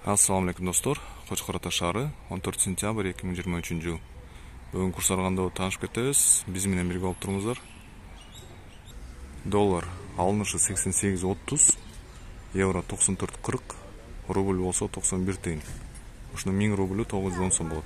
Ассаламу алейкум достор. Кочкор Ата шаары 14 сентябрь 2023 жыл. Бүгүн курс арганда таанышып кетебиз. Биз менен бирге болуп туруңуздар. Доллар алынышы 88.30, евро 94.40, рубль болсо 91 тыйын. Ушунун 1000 рублю 910 сом болот.